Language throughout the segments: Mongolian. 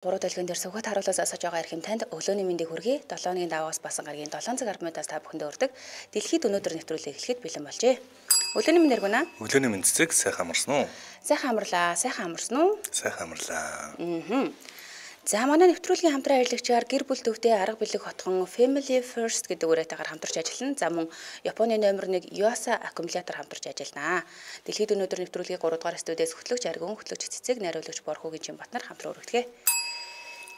Гурав дэлгэн дээр сүхбат харуулаас асууж байгаа эрхэм танд өглөөний мэндийг хүргэе. 7 өдрийн даваагаас басан гарагийн 7 цаг 10 минутаас та бүхэндээ урьдаг. Дэлхийд өнөөдөр нэвтрүүлэг эхлэхэд бэлэн болжээ. Өглөөний мэнд яргуна. Өглөөний мэнд цэцэг сайхан амарсан уу? Сайхан амарлаа. Сайхан амарсан уу? Сайхан амарлаа. За манай нэвтрүүлгийн хамтран ажиллагчаар гэр бүл төвтэй арга билэг хотхон Family First гэдэг үрэтээр хамтарч ажиллана. За мөн Японы номер 1 Yuasa аккумулятор хамтарч ажиллана. Дэлхийд өнөөдөр нэвтрүүлгийн 3 дугаар студиэс хөтлөгч Аргун, хөтлөгч Цэцэг, найруулагч Борхогийн Чимбатнаар хамтран өргөдгөө.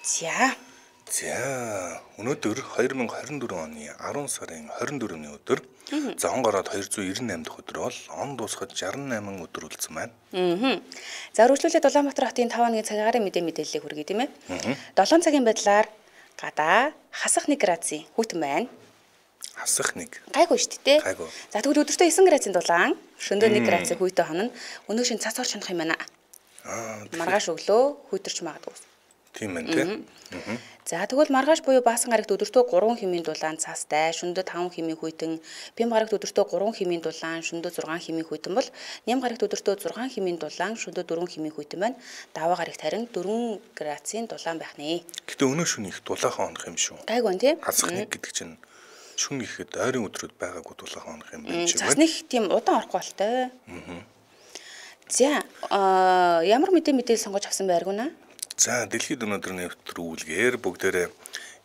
За өнөөдөр 2024 оны 10 сарын 24-ний өдөр зон гараад 298 дахь өдөр бол он дуусахад 68 өдөр үлдсэн байна. За үргэлжлүүлээд Улаанбаатар хотын 5 оны цагаарын мэдээллийг хүргэе тийм ээ. 7 цагийн байдлаар гадаа хасах 1 градусын хүйтэн байна. Хасах 1. Гайгүй шүү дээ. Гайгүй. За тэгвэл өдөртөө 9 градусын дулаан, шөнөдөө 1 градусын хүйтэн хонно. Өнөө шин цас орч хонох юм байна. Маргааш өглөө хүйтэрч магадгүй. Тийм байна тийм. За тэгвэл маргааш буюу баасан гарагт өдөртөө 3 хэмийн дулаан цастай, шөнөдөө 5 хэмийн хүйтэн, бям гарагт өдөртөө 3 хэмийн дулаан, шөнөдөө 6 хэмийн хүйтэн бол ням гарагт өдөртөө 6 хэмийн дулаан, шөнөдөө 4 хэмийн хүйтэн байна. Даваа гарагт харин 4 градусын дулаан байх нэ. Гэтэ өнөө шөнө их дулаахан хонох юм шүү. Гайгүй байна тийм. Хасах 1 гэдэг чинь шүн ихэд ойрын өдрөд байгаагүй дулаахан хонох юм байна чи. Цасны их тийм удаан орохгүй болтой. За ямар мэдээлэл сонгож авсан байргуна? За дэлхийд өнөөдөр нэвтрүүлгээр бүгдээрээ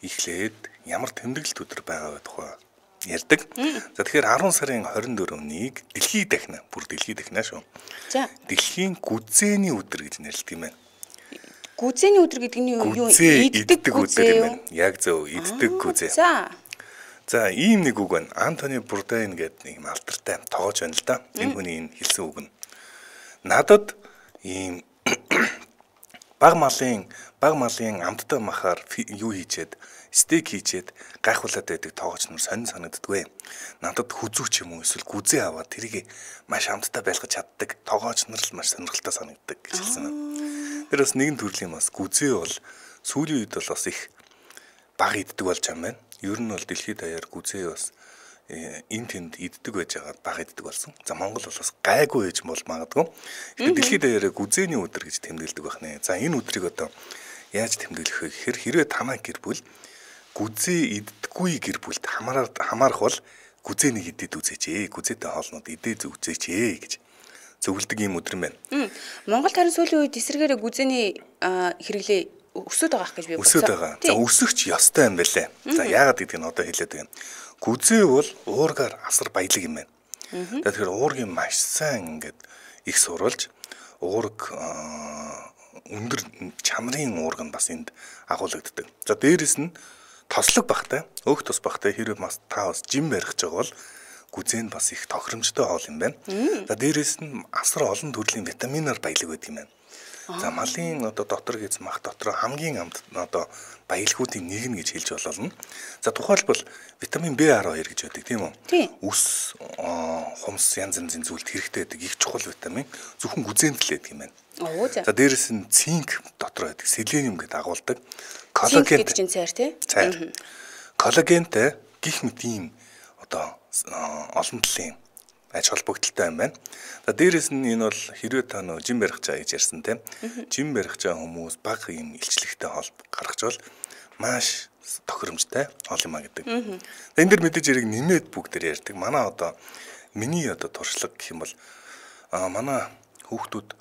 эхлээд ямар тэмдэглэлт өдөр байгаа тухай ярьдаг. За тэгэхээр 10 сарын 24-нийг дэлхийд дахина, бүр дэлхийд дахина шүү. За дэлхийн гүзээний өдөр гэж нэрлэдэг юм байна. Гүзээний өдөр гэдэг нь юу? Иддэг өдөр юм байна. Яг зөв, иддэг гүзээ. За ийм нэг үг байна. Антони Бурдайн гэдэг нэг алдартай тоогооч байна л да. Энэ хүний хэлсэн үг нь. Надад ийм баг малын амттай махаар юу хийчээд стейк хийчээд гайхуулаад байдаг тоогооч нар сонин санагддаггүй. Надад хүзүүч юм уу эсвэл гүзээ аваад тэрийг маш амттай байлгаж чаддаг тоогооч нар л маш сонирхолтой санагддаг гэж хэлсэн байна. Тэр бас нэгэн төрлийн бас гүзээ бол сүүлийн үед бол бас их баг иддэг болж байгаа юм байна. Ер нь бол дэлхийд даяар гүзээ бас энэ тэнд иддэг байж байгаа баг иддэг болсон. За Монгол бол бас гайгүй ээж бол магадгүй. Тэгэхээр дэлхийд даяар гүзээний өдөр гэж тэмдэглэдэг байна. За энэ өдрийг одоо яаж тэмдэглэх вэ гэхээр хэрвээ танай гэр бүл гүзээ иддэггүй гэр бүлд хамаарах бол гүзээнийг идээд үзээч. Гүзээтэй хоолнууд идээд үзээч гэж зөвлөдөг юм өдөр юм байна. Монгол харин сүүлийн үед эсрэгээр гүзээний хэрэглээ өсөд байгаа гэж би бодсон. Өсөд байгаа. За өсөхч ёстой юм байлээ. За яагаад гэдгийг нь одоо хэлээд байна. Гүзээ бол уургаар асар баялаг юм байна. Тэгэхээр уургийн маш сайн ингээд их сурвалж уург өндөр чанарын уург нь бас энд агуулгаддаг. За дээрэс нь тослог багтай, өөх тос багтай хэрвээ бас та бас жим барих гэж байгаа бол гүзээ нь бас их тохиромжтой хоол юм байна. За дээрэс нь асар олон төрлийн витаминаар баялаг байдаг юм байна. За малын одоо дотор гэж мах дотор хамгийн амт одоо баялагуудын нэг нь гэж хэлж болно. За тухайлбал витамин B12 гэж байдаг тийм үү? Үс, хумс янз янзын зүйлд хэрэгтэй байдаг их чухал витамин зөвхөн гүзээнд л байдаг юм байна. За дээрэс нь цинк дотор байдаг, селениум гэдэг агуулдаг. Коллаген чинь цайр тий? Коллагентэй гих мэт ийм одоо олон талын аж холбогдолтой юм байна. За дээрэс нь энэ бол хэрвээ та нөө жим барих чаа гэж ярьсан тийм. Жим барих чаа хүмүүс баг юм илчлэгтэй хоол гаргаж бол маш тохиромжтой хоол юм а гэдэг. Энэ дэр мэдээж яриг нэмээд бүгдээр ярьдаг. Манай одоо миний одоо туршлага гэх юм бол манай хүүхдүүд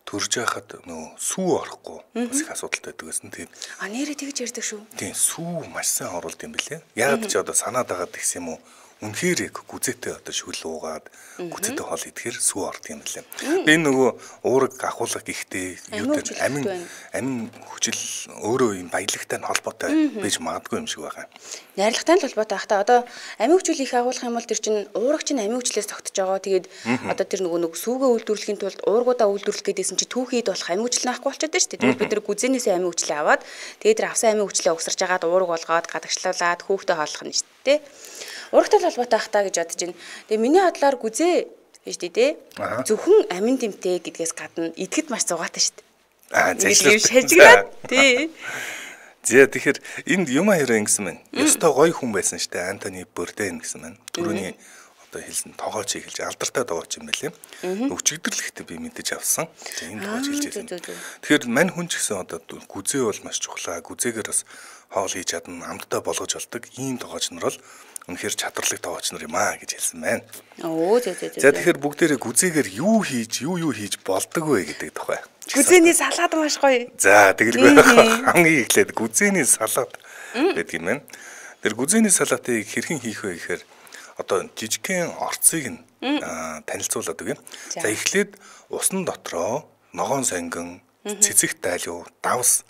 төрж яхад нөө сүү орохгүй бас их асуудалтай байдаг гэсэн. Тэгээд нэрээ тэгж ярьдаг шүү. Тийм сүү маш сайн оруулд юм билээ. Яг ч одоо санаад байгаа гэх юм уу? Үнэхээр гүзээтэй одоо шүл уугаад гүзээтэй хоол идэхээр сүү ордог юм лээ. Энэ нөгөө уураг ахуулга гихтээ юу гэдэг амин хүчил өөрөө юм баялагтай нь холбоотой байж магадгүй юм шиг байгаа. Найрлагатай нь холбоотой хата одоо амин хүчил их агуулах юм бол тэр чинь уураг чинь амин хүчлээс тогтож байгаа. Тэгээд одоо тэр нөгөө сүүгээ үйлдвэрлэхийн тулд уургуудаа үйлдвэрлэх гэдээсэн чи түүхийд болох амин хүчил наахгүй болчиход шүү дээ. Тэгвэл бид нэр гүзээнээс амин хүчлээ аваад тэгээд тэр авсан амин хүчлээ угсарч агаад уураг болгоод гадагшлуулаад хүүхдээ хооллох нь шүү дээ. Урагтай холбоотой хата гэж бодож байна. Тэгээ миний бодлоор гүзээ гэж тий зөвхөн амин тэмтэй гэдгээс гадна идэхэд маш зугаатай шүү дээ. Зэжлээ шажигнаад тий. За тэгэхээр энд юм хэрэг ингэсэн байна. Ёстой гоё хүн байсан шүү дээ. Антони Бурдайн гэсэн байна. Түрүүний одоо хэлсэн тоогооч хэлж алдартай тоогооч юм байлээ. Өчигдөрлөхтэй би мэдэж авсан. За энэ тоогооч хэлж байсан. Тэгэхээр мань хүн ч гэсэн одоо гүзээ бол маш чухлаа. Гүзээгээр бас хоол хийж чадна, амттай болгож болдог ийм тоогооч нар бол үнэхээр чадварлаг тоогооч нар юм аа гэж хэлсэн байна. За тэгэхээр бүгдээрээ гүзээгээр юу хийж болдог вэ гэдэг тухай. Гүзээний салаад маш гоё. За тэгэлгүй хамгийн эхлээд гүзээний салаад гэдэг юм байна. Тэр гүзээний салаатыг хэрхэн хийх вэ гэхээр одоо жижигхэн орцыг нь танилцуулаад өгье. За эхлээд усны дотроо ногоон сонгон, цэцэг тайлуу, давс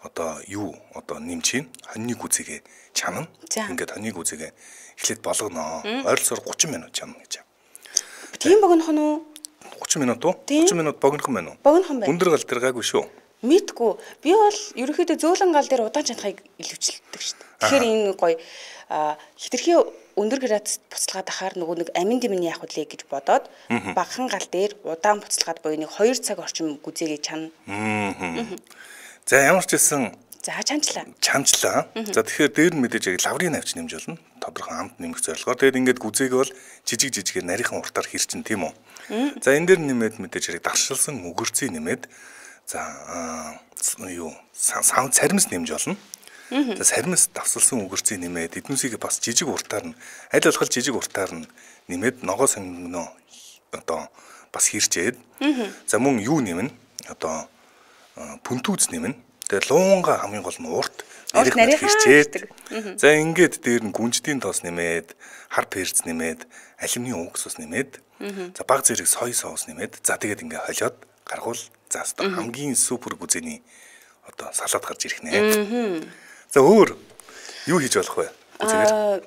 одоо нэмж хийн. Хоньны гүзээгээ чанана. Ингээд хоньны гүзээгээ эхлээд болгоно. Ойролцоогоор 30 минут чанана гэж. Тийм богинох нь уу? 30 минут уу? 30 минут богинох юм байна уу? Богинох юм байна. Өндөр гал дээр гайгүй шүү. Мэдгүй. Би бол ерөөхдөө зөөлөн гал дээр удаан чанахыг илүүчилдэг шүү дээ. Тэгэхээр энэ гоё хитрхи өндөр градус буцалгаад ахаар нөгөө нэг амин дэмний яах вэ гэж бодоод багахан гал дээр удаан буцалгаад буюу нэг 2 цаг орчим гүзээгээ чана. За ямар ч хэлсэн чанчлаа. За тэгэхээр дээр нь мэдээж яг лаврын навч нэмж болно. Тодорхой амт нэмэх зорилгоор. Тэгээд ингээд гүзээгээ бол жижигээр нарийнхан уртаар хэрчин тийм үү. За энэ дээр нэмээд мэдээж яг даршилсан өгөрцийг нэмээд за царимс нэмж болно. За царимс давсалсан өгөрцийг нэмээд эднүсийг бас жижиг уртаар нь аль болох жижиг уртаар нь нэмээд ногоо сонгоно одоо бас хэрчээд за мөн юу нэмнэ одоо пүнтүүц нэмнэ. Тэгээ луунга хамгийн гол нь урт нарийнхан хэрчээд за ингээд дээр нь гүнждийн тоос нэмээд хар перц нэмээд алюминий уксус нэмээд за баг зэрэг соёй соус нэмээд за тэгээд ингээ холиод гаргуул за хамгийн супер гүзээний одоо салаад гарч ирэх нэ. За өөр юу хийж болох вэ?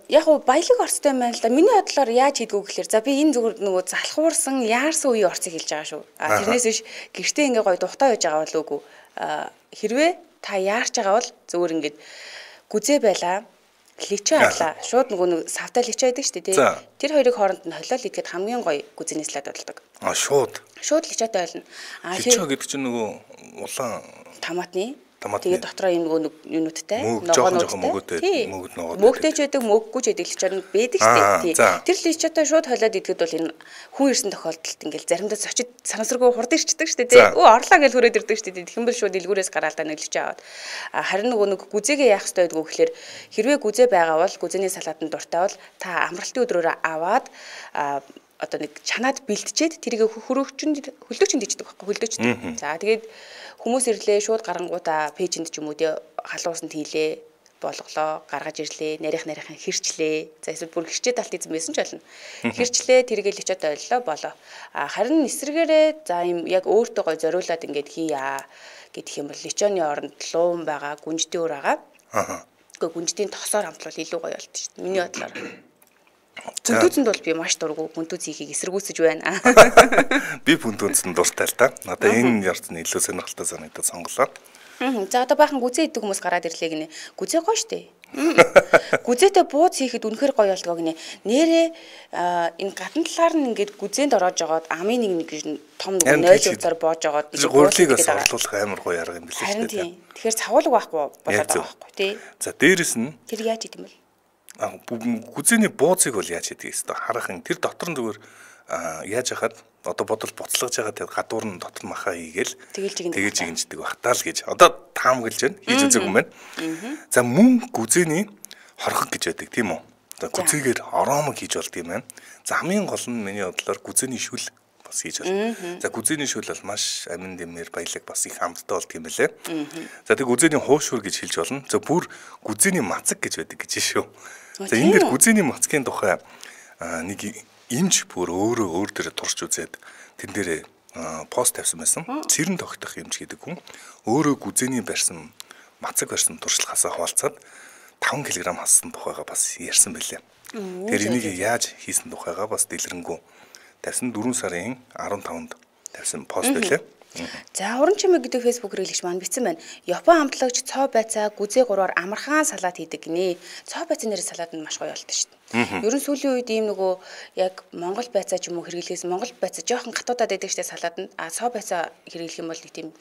Яг уу баялаг орцтой юм байна л да. Миний бодлоор яаж хийдгүү гэхээр за би энэ зүгээр нөгөө залхуурсан яарсан үеийн орцыг хэлж байгаа шүү. Тэрнээс биш гэртээ ингээ гоё тухтай байж байгаа болов уу? Хэрвээ та яарч байгаа бол зүгээр ингээд гүзээ байлаа, личо авлаа. Шууд нөгөө нэг савтай личо байдаг шүү дээ, тий. Тэр хоёрыг хооронд нь холиол идэхэд хамгийн гоё гүзээний салаад болдог. Шууд личотой болно. Личо гэдэг чинь нөгөө улаан томатны тэгээд дотроо юм нөгөө юунуудтай мөгтэй ч байдаг, мөггүй ч байдаг личод нь байдаг шүү дээ. Тэр личотой шууд холиод идэхэд бол энэ хүн ирсэн тохиолдолд ингээл заримдаа цочид санамсаргүй хурд ирчдэг шүү дээ. Орлоо гэж хүрээд ирдэг шүү дээ. Тэгэх юм бол шууд дэлгүүрээс гараал та нэг личо аваад. Харин нөгөө нэг гүзээгээ яах ёстой байдгүй гэхээр хэрвээ гүзээ байгаа бол гүзээний салаатанд дуртай бол та амралтын өдрөөрөө аваад одоо нэг чанаад бэлтжээд тэрийг хөлөөчөнд диждэг байхгүй хөлөөчд. За тэгээд хүмүүс ирлээ шууд гарангуудаа пэйжэнд ч юм уу тий халуусанд хийлээ болголоо гаргаж ирлээ нарийнхан хэрчлээ. За эсвэл бүр хэрчээд алт эзэн байсан ч болно. Хэрчлээ тэргээ личод ойллоо болоо. Харин эсрэгээрээ за юм яг өөртөө гой зориулаад ингээд хийя гэдэг юм бол личоны оронд луун байгаа гүнждийн өр байгаа. Гэхдээ гүнждийн тосоор хамтлал илүү гоё болт шүү дээ. Миний бодлоор. Пүнтүүцэнд бол би маш дургу пүнтүүц хийхийг эсэргүүцэж байна. Би пүнтүүцэнд дуртай л та. Надаа энэ ярцны илүү сонирхолтой санагдаад сонголоо. За одоо баахан гүзээ идэх хүмүүс гараад ирлээ гинэ. Гүзээ гоё штэ. Гүзээтэй бууз хийхэд үнэхээр гоё болдгоо гинэ. Нэрээ энэ гадна талаар нь ингээд гүзээнд ороод жагаад амын нэг том нэг 0 утсаар боож жагаад гурлыг бас орлуулах амар гоё арга юм билээ шүү дээ. Тэгэхээр цавуулга байхгүй болоод байгаа байхгүй тий. За дээрэс нь тэр яаж идэм бэл? Гүзээний бууцыг бол яаж хийдэг вэ? Харахын тэр дотор нь зүгээр яаж яхад одоо бодол буцлагж байгаа тэр гадуур нь дотор махаа хийгээл тэгэж жигэнждэг бахтаа л гэж одоо таамаглаж байна хийж үзег юм байна. За мөн гүзээний хорхог гэж байдаг тийм үү? За гүзээгээр оромог хийж болд юм байна. За хамгийн гол нь миний бодлоор гүзээний шүл бас хийж болно. За гүзээний шүл бол маш амин дэмээр баялаг бас их хамттай болд юм байлээ. За тэг гүзээний хуушур гэж хэлж болно. За бүр гүзээний мацаг гэж байдаг гэж шүү. За энэ дэр гүзээний мацгийн тухай нэг имж бүр өөр дээр турш үзээд тэн дээрээ пост тавьсан байсан. Цэрэн тогтох имж гэдэг хүн өөрөө гүзээний барьсан мацаг барьсан туршлагаасаа хуваалцаад 5 кг хассан тухайга бас ярьсан байлээ. Тэр энийг яаж хийсэн тухайга бас дэлгэрэнгүй тавьсан 4 сарын 15-нд тавьсан пост байлээ. За уран чимэг гэдэг фэйсбүүк хэрэглэгч маань бичсэн байна. Япон амтлагч цоо байцаа гүзээ 3-аар амархан салаад хийдэг гинэ. Цоо байцаа нэрээр салаад нь маш гоё болдог шүү дээ. Ерөн сүүлийн үед ийм нөгөө яг Монгол байцаа ч юм уу хэрэглээс Монгол байцаа жоохон гатуудаад байдаг штэ салаад нь. Цоо байцаа хэрэглэх юм бол нэг тийм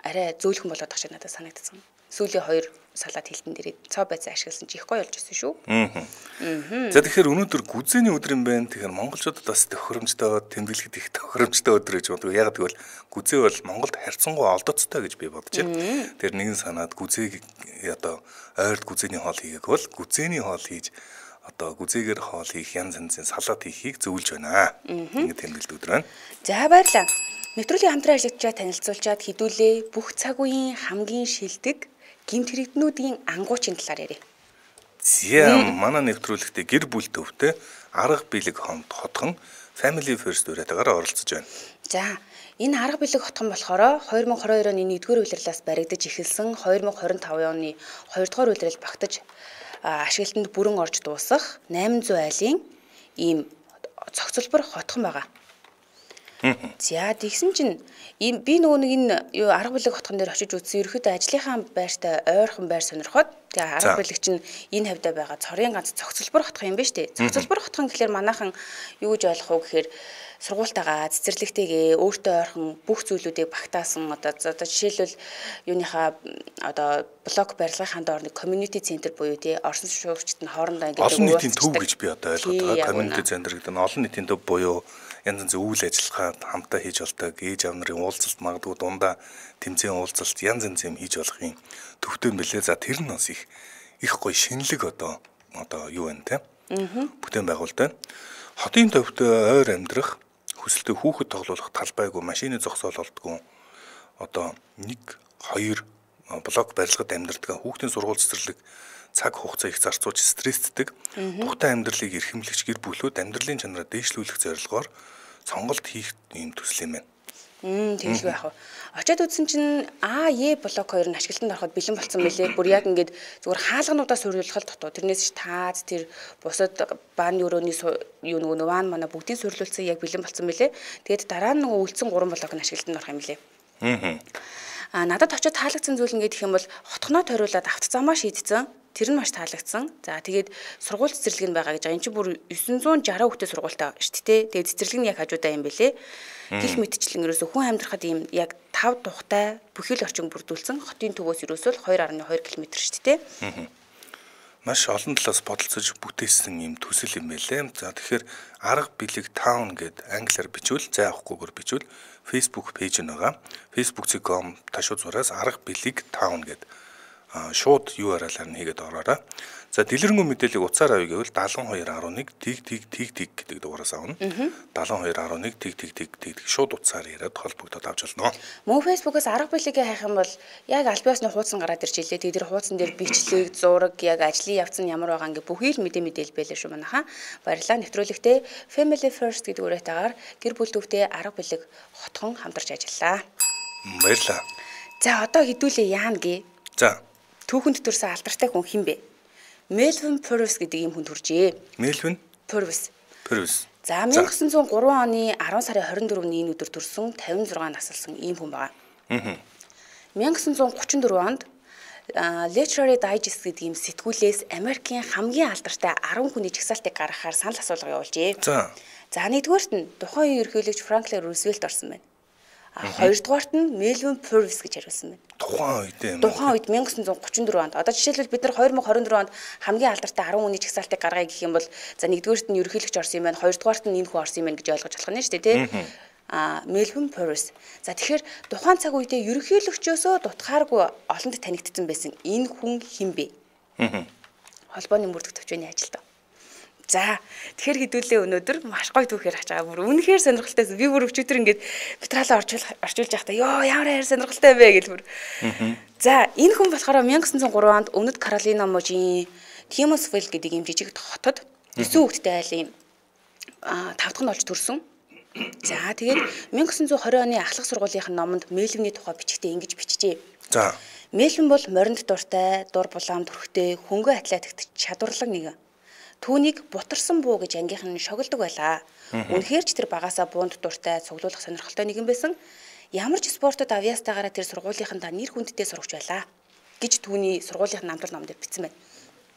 арай зөөлхөн болоод тах шиг надад санагдсан. сүүлийн 2 салаад хилтэн дээр цоо байцаа ашигласан чи их гоё болж байсан шүү. За тэгэхээр өнөөдөр гүзээний өдөр юм байна. Тэгэхээр монголчуудад бас тохиромжтой, тэмдэглэхэд их тохиромжтой өдөр гэж боддог. Яг тэгвэл гүзээ бол Монголд харьцангуй олдоцтой гэж би бодож байна. Тэр нэгэн санаад гүзээг одоо ойрд гүзээний хоол хийгээг бол гүзээний хоол хийж одоо гүзээгээр хоол хийх янз янзын салаад хийхийг зөвлөж байна. Ингэ тэмдэглэдэг өдөр байна. За баярлалаа. Нэвтрүүлгийн хамтран ажиллагчаа танилцуулчаад хэдүүлээ бүх цаг үеийн хамгийн шилдэг гэмт хэрэгтнүүдийн ангуучийн талаар ярив. За манай нэвтрүүлэгтээ гэр бүл төвтэй арга билег хотхон Family First дуурайтаагаар оролцож байна. За энэ арга билег хотхон болохоор 2022 оны 1-р улирлаас баригдаж эхэлсэн 2025 оны 2-р улирал багтаж ашиглалтанд бүрэн орж дуусах 800 айлын ийм цогцлбор хотхон байгаа. За тэгсэн чинь би нөгөө нэг энэ арга билег хотхон дээр очиж үзсэн ерөөхдөө ажлынхаа байртай ойрхон байр сонирхоод тэгээ арга билег чинь энэ хавьда байгаа цорын ганц цогцлбор хотхон юм ба штэ. Цогцлбор хотхон гэхэлэр манайхан юу гэж ойлгох вэ гэхээр сургуультайгаа цэцэрлэгтэйгээ өөртөө ойрхон бүх зүйлүүдийг багтаасан одоо жишээлбэл юуныхаа одоо блок барилгын доор нэг community center буюу тий орсон шуурчид нь хоорондоо ингээд олон нийтийн төв гэж би одоо ойлгоод байгаа. Community center гэдэг нь олон нийтийн төв буюу янз янзын үйл ажиллагаа хамтаа хийж болдог ээж аав нарын уулзалт магадгүй дундаа тэмцээн уулзалт янз янз юм хийж болохын төвтэй мөлий. За тэр нь бас их гоё шинэлэг одоо юу байна те бүтээн байгуулалт байна. Хотын төвтэй ойр амьдрах хүсэлтэй хүүхэд тоглох талбайгүй машины зогсоол болдгоо одоо 1-2 блок барилгад амьдардаг хүүхдийн сургууль цэцэрлэг цаг хугацаа их зарцуулж стресстэй тухтай амьдралыг эрхэмлэгч гэр бүлүүд амьдралын чанараа дээшлүүлэх зорилгоор сонголт хийх юм төсөл юм байна. Тэгж байх. Очоод үзсэн чинь блок 2 нь ашиглалтанд ороход бэлэн болсон байлээ. Бүр яг ингээд зүгээр хаалгануудаа суйрлуулах дутуу. Тэрнээс таац тэр бусад бааны өрөөний юу нөгөө ван манай бүгдийг суйрлуулсан яг бэлэн болсон байлээ. Тэгээд дараа нь нөгөө үлдсэн 3 блок нь ашиглалтанд орох юм лээ. Надад очоод таалагдсан зүйл ингээд их юм бол хотгоноо тойруулаад автозамаа шийдсэн. Тэр нь маш таалагдсан. За тэгээд сургууль цэцэрлэг нь байгаа гэж байгаа. Энд чинь бүр 960 хүүхдэд сургуультай шүү дээ. Тэгээд цэцэрлэг нь яг хажуудаа юм бэлээ. Гэх мэтчлэн ерөөсө хүн амьдрахад ийм яг 5 тухтай бүхэл орчин бүрдүүлсэн хотын төвөөс ерөөсөө 2.2 км шүү дээ. Маш олон талаас бодолцож бүтээсэн юм төсөл юм байлээ. За тэгэхээр арга билег таун гэд англиар бичвэл зай авахгүйгээр бичвэл Facebook пэйж нь байгаа. facebook.com ташуу зураас арга билег таун гэд шууд URL-аар нь хийгээд ороорой. За дэлгэрэнгүй мэдээллийг утсаар авъя гэвэл 7211 тэг гэдэг дугаараас авна. 7211 тэг шууд утсаар яриад холбогдоод авч болно. Мөн Facebook-аас арга билегээ хайх юм бол яг аль биесны хуудсан гараад ирж илээ. Тэгээд тэр хуудсан дээр бичлэг, зураг, яг ажлын явц нь ямар байгаа ингээ бүхий л мэдээлэл байлаа шүү манайхаа. Баярлалаа. Нэвтрүүлэгтээ Family First гэдэг үрэтээр гэр бүл төвтэй арга билег хотхон хамтарч ажиллаа. Баярлалаа. За одоо хэдүүлээ яана гээ. За түүхэнд төрсэн алдартай хүн хэн бэ? Melvin Purvis гэдэг юм хүн төржээ. Melvin Purvis. За 1903 оны 10 сарын 24-ний энэ өдөр төрсөн 56 насалсан ийм хүн байгаа. 1934 онд Literary Digest гэдэг ийм сэтгүүлээс Америкийн хамгийн алдартай 10 хүний жагсаалтыг гаргахаар санал асуулга явуулжээ. За нэгдүгээрт нь тухайн үеийн ерөнхийлөгч Franklin Roosevelt орсон байна. Хоёрдугаарт нь Melvin Purvis гэж хариулсан байна. Тухайн үед 1934 онд. Одоо жишээлбэл бид нар 2024 онд хамгийн алдартай 10 хүний жагсаалтыг гаргая гэх юм бол за нэгдүгээрт нь ерөнхийлөгч орсон юм байна, хоёрдугаарт нь энэ хүн орсон юм байна гэж ойлгож болох нь шүү дээ, тийм. Melvin Purvis. За тэгэхээр тухайн цаг үедээ ерөнхийлөгчөөсөө дутхааргүй олонд танигдсан байсан энэ хүн хэн бэ? Холбооны мөрдөх төвчөөний ажилтан. За тэгэхээр хэдүүлээ өнөөдөр маш гоё түүхээр хаж байгаа. Бүр үнэхээр сонирхолтой. Би бүр өчигдөр ингээд материалаа орчуулж байхдаа ёо ямар хайр сонирхолтой вэ гэж бүр. За энэ хүн болохоор 1903 онд Өмнөд Каролина мужийн Тимосвилл гэдэг юм жижиг хотод 9 хүүхэдтэй айлын 5 дахь нь олж төрсөн. За тэгээд 1920 оны ахлах сургуулийн номонд Melvin-ийн тухай бичгтээ ингэж бичжээ. За Melvin бол моринд дуртай, дур булаам төрхтэй, хөнгө атлетикт чадварлаг нэгэн. Түүнийг бутарсан буу гэж ангийнхан шогилдог байлаа. Үнэхээр ч тэр багасаа буунд дуртай, цуглуулах сонирхолтой нэгэн байсан. Ямар ч спортод авьяастайгаараа тэр сургуулийнхандаа нэр хүндтэй сурагч байлаа гэж түүний сургуулийн намтар номдэр бичсэн байна.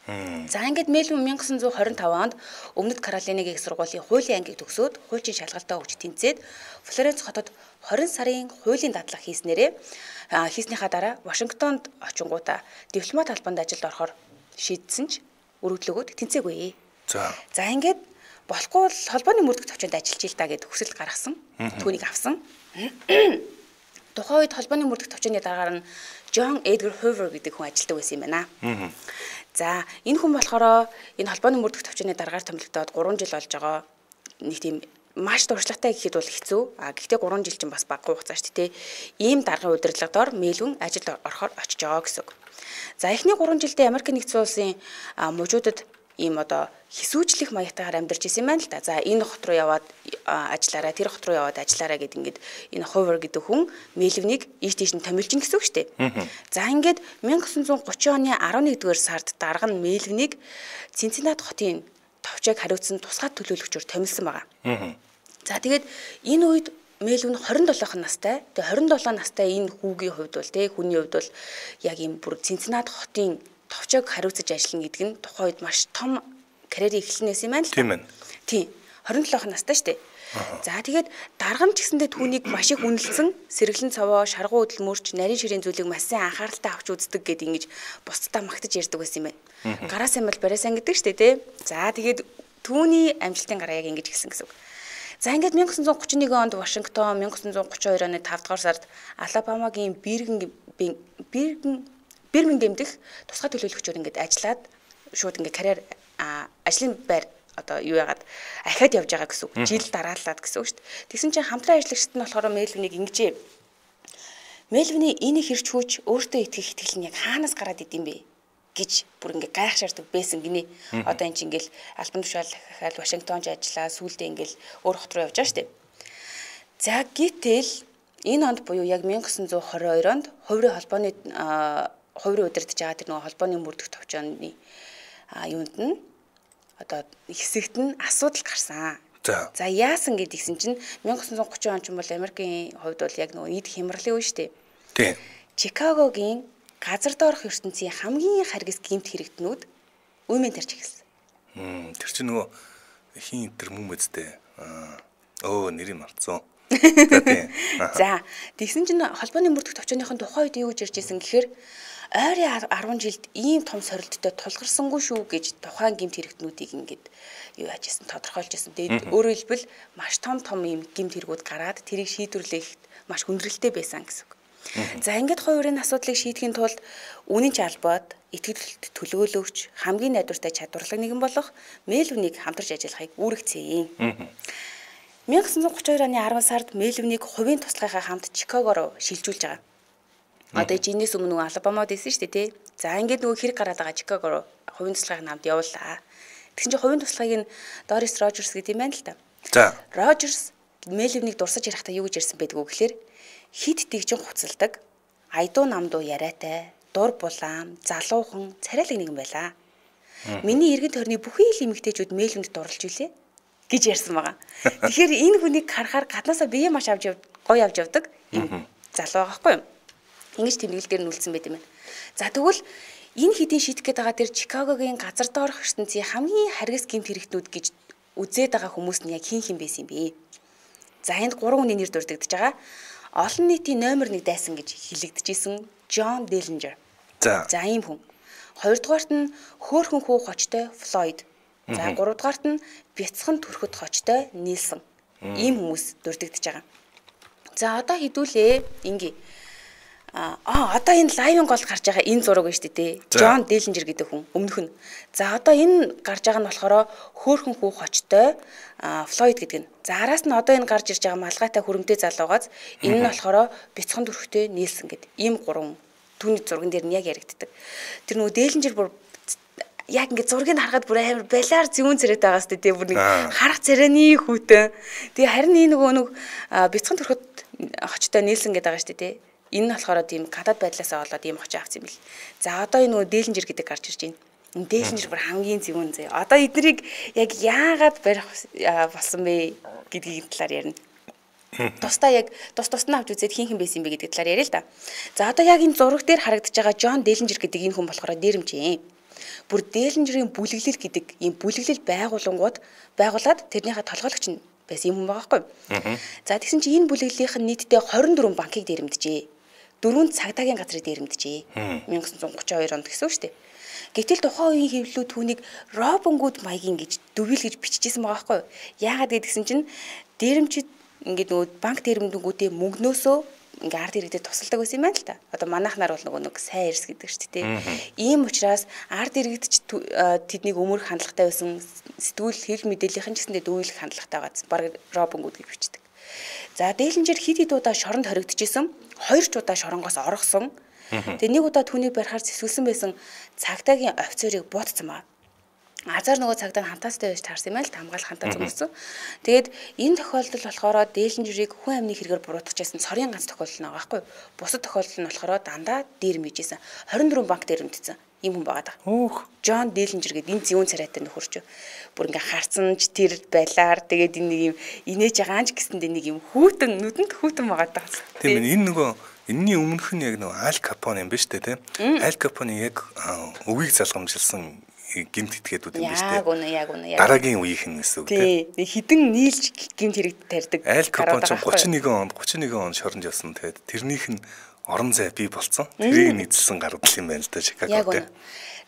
За ингээд Мельвин 1925 онд Өмнөд Каролинагийн их сургуулийн хуулийн ангийг төгсөөд хуульчин шалгалтаа өгч тэнцээд Флоренц хотод 20 сарын хуулийн дадлага хийснийхаа дараа Вашингтонд очингуудаа дипломат албанд ажилд орохоор шийдсэн ч өргөдлөгөөд тэнцээгүй. За ингээд болохгүй л холбооны мөрдөх төвчөнд ажиллаж ил та гэд хүсэл гаргасан. Түүнийг авсан. Тухайн үед холбооны мөрдөх төвчөний дараагаар нь John Edgar Hoover гэдэг хүн ажилладаг байсан юм байна. За энэ хүн болохоор энэ холбооны мөрдөх төвчөний дараагаар томилогдоод 3 жил болж байгаа. Нэг тийм маш туршлагатай гэхэд бол хэцүү. Гэхдээ 3 жил чинь бас баггүй хугацаа шүү дээ. Ийм даргын удирдлагаар Мельвин ажилд орохоор очиж байгаа гэсэн үг. За эхний 3 жилдээ Америк нэгдсэн улсын мужуудад ийм одоо хэсүүжлэх маягтайгаар амьдарч исэн юм байна л да. За энэ хот руу яваад ажиллаарай, тэр хот руу яваад ажиллаарай гэд ингээд энэ Hoover гэдэг хүн Мельвинийг ийш тийш нь томилжин гэсэн үг шүү дээ. За ингээд 1930 оны 11-р сард дарга нь Мельвинийг Цинциннат хотын товчойг хариуцсан тусгай төлөөлөгчөөр томилсон байгаа. За тэгээд энэ үед Мельвин 27 настай. Тэгээ 27 настай энэ хүүгийн хувьд бол хүний хувьд бол яг ийм бүр Цинциннат хотын товчойг хариуцаж ажиллана гэдэг нь тухайн үед маш том карьерийн эхлэнээс юм байна л. Тийм ээ. Тийм. 27 настай шүү дээ. За тэгээд дарга нь ч гэсэндээ түүнийг маш их үнэлсэн, сэргэлэн цовоо, шаргуу хөдөлмөрч, нарийн ширийн зүйлийг маш сайн анхааралтай авч үздэг гэдээ ингэж бусдаа магтаж ярьдаг байсан юм байна. Гараа сайн бол бараа сайн гэдэг шүү дээ, тий. За тэгээд түүний амжилтын гараа яг ингэж гисэн гэсэн үг. За ингээд 1931 онд Вашингтон, 1932 оны 5 дугаар сард Алабамагийн Бирмингем дэх тусгай төлөөлөгчөөр ингээд ажиллаад шууд ингээд карьер ажлын байр одоо юу яагаад ахиад явж байгаа гэсэн үг. Жил дараалаад гэсэн үг шүү дээ. Тэгсэн чинь хамтран ажиллагчид нь болохоор Мельвинийг ингэжээ. Мельвиний энэ хэрч хүч өөртөө итгэх итгэл нь яг хаанаас гараад идэм бэ гэж бүр ингээд гайхшаарддаг байсан гинэ. Одоо энэ чинь ингээд албан тушаал дахиад Вашингтонч ажиллаа, сүүлдээ ингээд өөр хот руу явж байгаа шүү дээ. За гэтэл энэ онд буюу яг 1922 онд хувийн холбооны хувийн удирдах байгаа тэр нөгөө холбооны мөрдөх товчооны юунд нь одоо хэсэгт нь асуудал гарсан. За яасан гэдгийгсэн чинь 1930 он ч юм бол Америкийн хувьд бол яг нөгөө нийт хямралын үе шүү дээ. Тийм. Чикагогийн газар доорх ертөнцийн хамгийн харгас гэмт хэрэгтнүүд үеийн тарч эхэлсэн. Тэр чинь нөгөө хин тэр мөн үстэй. Нэрийг мартсан. За тэгсэн чинь холбооны мөрдөх товчооныхон тухайн үед юу гэж ярьж ирсэн гэхээр ойрын 10 жилд ийм том сорилттой тулгарсангүй шүү гэж тухайн гэмт хэрэгтнүүдийг ингээд юу яаж ирсэн тодорхойлж ирсэн. Тэгээд өөрөөр хэлбэл маш том ийм гэмт хэрэгүүд гараад тэрийг шийдвэрлэхэд маш хүндрэлтэй байсан гэсэн үг. За ингээд хоёрын асуудлыг шийдэхин тулд үнэн ч албад итгэлт төлөөлөгч хамгийн найдвартай чадварлаг нэгэн болох Мельвинийг хамтарч ажиллахыг үүрэгцээе. 1932 оны 10 сард Мельвинийг хувийн туслахынхаа хамт Чикаго руу шилжүүлж байгаа. Одоо энэс өмнө нөгөө Алабамад байсан шүү дээ, тий. За ингээд нөгөө хэрэг гараад байгаа Чикаго руу хувийн туслахын хамт явууллаа. Тэгсэн чинь хувийн туслахыг нь Дорис Рожерс гэдэг юм байна л да. За Рожерс Мельвинийг дурсаж ярихтаа юу гэж ярьсан байдг вэ гэхээр хит тэгжин хуцалдаг, айдуу намдуу яриатай, дур булаам, залуухан, царайлаг нэгэн байлаа. Миний эргэн тойрны бүхий л эмэгтэйчүүд Мельвинд дурлж үлээ гэж ярьсан байгаа. Тэгэхээр энэ хүнийг харахаар гаднаасаа бие маш гоё авч явдаг юм залуу байгаа байхгүй юу? Ингэж тэмдэглэл дээр нь үлдсэн байт юм байна. За тэгвэл энэ хэдийн шийдэх гээд байгаа тэр Чикагогийн газар доорх ертөнцийн хамгийн харгас гэмт хэрэгтнүүд гэж үзээд байгаа хүмүүс нь яг хин байсан юм бэ? За энд 3 хүний нэр дурддагдж байгаа. Олон нийтийн номер 1 дайсан гэж хэлэгдэжсэн John Dillinger. За ийм хүн. Хоёрдугаарт нь хөөхөн хүү хочтой Флойд. За гуравдугаарт нь бяцхан төрөхөд хочтой Нильсон. Ийм хүмүүс дурддагдж байгаа. За одоо хэдүүлээ ингээ. Одоо энэ лайвын голд гарч байгаа энэ зураг байна шүү дээ. John Dillinger гэдэг хүн өмнөх нь. За одоо энэ гарч байгаа нь болохоор хөөхөн хүү хочтой Флойд гэдэг нь. За араас нь одоо энэ гарч ирж байгаа малгайтай хөрөмтэй залуугаас энэ нь болохоор бяцхан төрөхтэй Нильсон гэдэг. Ийм 3 түүний зурган дээр нь яг яригддаг. Тэр нөгөө Dillinger бүр яг ингээд зургийг харахад бүр амар балиар зүүн царайтай байгаа сте тий бүр нэг харах царайны хүүтэн. Тэгээ харин энэ нөгөө бяцхан төрөхөд хочтой Нильсон гэдэг байгаа сте тий. Энэ нь болохоор тийм гадаад байдлаасаа болоод ийм очоо авсан юм бил. За одоо энэ нөгөө Dillinger гэдэг гарч ирж байна. Энэ Dillinger бүр хамгийн зүүн зэ. Одоо эднийг яг яагаад барих болсон бэ гэдгийг талаар ярина. Тусдаа яг тусна авч үзээд хин байсан юм бэ гэдэг талаар яриа л да. За одоо яг энэ зураг дээр харагдаж байгаа John Dillinger гэдэг энэ хүн болохоор дээрэмжээ. Бүр Дээлинжерийн бүлэглэл гэдэг ийм бүлэглэл байгуулад тэрнийхээ толгойлогч нь байсан юм байгаа байхгүй. За тэгсэн чинь энэ бүлэглэлийнх нь нийтдээ 24 банкыг дээрэмдэжээ. 4 цагдаагийн газрыг дээрэмдэжээ. 1932 онд гэсэн үг шүү дээ. Гэтэл тухайн үеийн хэвлэлүүд түүнийг Робин Гуд маягийн гэж дүгэл гэж биччихсэн байгаа байхгүй. Яагаад гэдгсэн чинь дээрэмчид ингээд нөгөө банк дээрэмдэнгүүдээ мөнгнөөсөө ингээ ард иргэдэд тусалдаг байсан юм байна л та. Одоо манайхнаар бол нөгөө нэг сайн эрс гэдэг шүү дээ. Ийм учраас ард иргэдч тэднийг өмөрөх хандлагатай байсан, сэтгүүл хэл мэдээллийнхэн ч гэсэндээ дүүйлэх хандлагатай байгаа. Бараг Робин Гуд гэж бичдэг. За Дээлинжер хэд удаа шоронд хоригдчихсэн, 2 ч удаа шоронгоос оргосон. Тэгээ нэг удаа түүнийг барихаар зэвсгэлсэн байсан цагдаагийн офицерыг буутсан ба. Азар нөгөө цагдаа нь хантаастай байж таарсан юм аа л хамгаалах хантаа зүгсэн. Тэгээд энэ тохиолдол болохоор Дээлинжерийг хүн амны хэрэгээр буруутгажсэн цорын ганц тохиолдол нэг байхгүй. Бусад тохиолдол нь болохоор дандаа дээрмэжсэн. 24 банк дээрмдсэн. Ийм хүн байгаа даа. Джон Дээлинжер гэдэг энэ зүүн царайтай нөхөрч. Бүр ингээ харцсан ч тэр байлаар тэгээд энэ нэг юм инээж байгаа ч гэсэндээ нэг юм хүүтэн нүдэнд хүүтэн байгаа даа. Тийм энэ нөгөө энэний өмнөх нь яг нөгөө Аль Капоне юм биш үү те? Аль Капоне яг өвийг залгамжилсан гимт этгээдүүд юм биш үү? Яг үнэ. Дараагийн үеийнх нь гэсэн үг те. Хідэн нийлж гимт хэрэг тарьдаг. Аль Капоне 31 онд шоронд явсан. Тэгээд тэрнийх нь орон зай бий болсон. Тэрийг нийцэлсэн гаргал юм байна л да Чикагод.